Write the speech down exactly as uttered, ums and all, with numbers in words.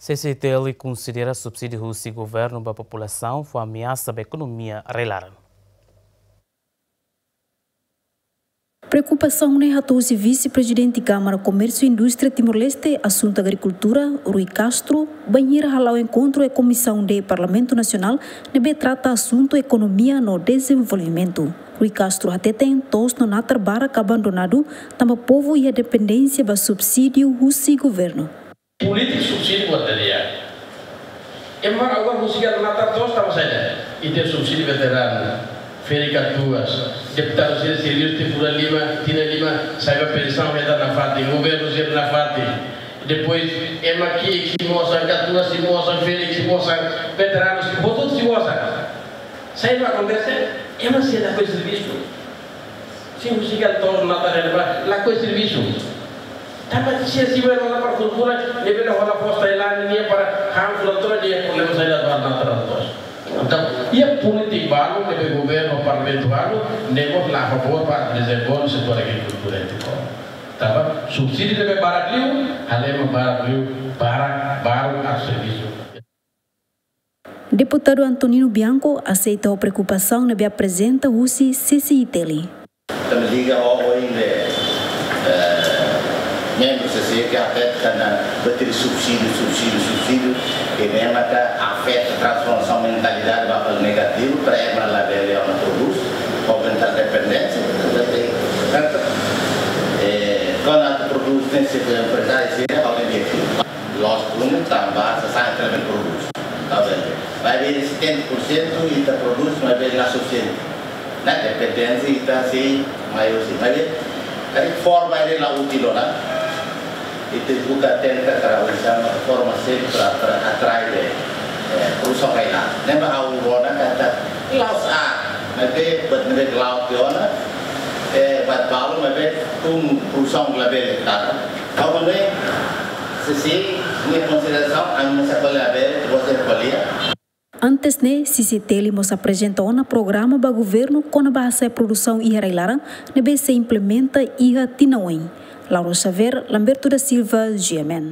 C C I T L konsidera subsídiu husi governu ba populasaun fó ameasa ba ekonomia rai-laran. Preokupasaun ne'e hato'o husi Vise-Prezidente Kámara Komérsiu Indústria Timor-Leste, Asuntu Agrikultura, Rui Castro, bainhira hala'o enkontru iha Komisaun D Parlamentu Nasionál ne'ebé trata asuntu ekonomia no dezenvolvimentu. Rui Castro hateten to'os no natar barak abandonadu, tanba povu iha dependénsia ba subsídiu husi governu. Polítika subsídiu buat tadi ya. Ema agora husik natar to'os tanba saida? Ita subsídiu veteranu, ferik katuas, deputadu sira servisu tinan lima, tinan lima, sai ba pensaun, hetan nafatin, governu sira nafatin. Depois, ema ki'ik sei mosan, katuas sei mosan, ferik sei mosan, veteranu sei, hotu sei mosan. Saida mak akontese? Ema sei lakohi servisu. Sei husik to'os natar ne'ebá, lakohi servisu. Tanba sira sei bele hola para kultura, ne'ebé hola fos Tailándia nian para han kultura, nia problema saida ba natar to'os. Entaun, iha polítika balu, ne'ebé governu, parlamentu balu, ne'e mós la favór ba dezenvolve setór agrikultura iha Timor. Tanba subsídiu ne'ebé barak liu, halo ema barak liu, barak, barak atu servisu. Deputadu Antonino Bianco aseita ho preokupasaun ne'ebé aprezenta husi C C I T L. Tanba liga ho oin de, eh, membru C C I T L ke afeta na betiri subsídiu, subsídiu, subsídiu, ke ne'e maka afeta transformasaun mentalidade ba fali negativu, para ema labele ona prodús, aumenta dependénsia, portantu, eh, kuandu atu prodús ne'e se emprezáriu sira, halo objetivu. Loos, por um tanba, se sai também prodús. Tá bem. Maibé setenta por cento ita prodús, maibé la sufisiente. Ne'e dependénsia ita sei maiór sei. Maibé, karik forma ne'e la útil ona. Ita buka tenta kara uza forma sei para, para atrai de, eh, produsaun rai-laran. Ne'ebé ha'u rona katak la'ós, maibé, buat ne'ebé la'o tiha ona, eh, buat balu, maibé tun produsaun labele tara. Ha'u hanoin, se sei, nia konsiderasaun, ami mós ko'alia bele, você ko'alia. Antes ne'e, C C I T L mós aprezenta ona programa ba governu kona-ba hasa'e produsaun iha rai-laran, ne'ebé sei implementa iha tinan oin. Laura Xavier, Lamberto da Silva, G M N.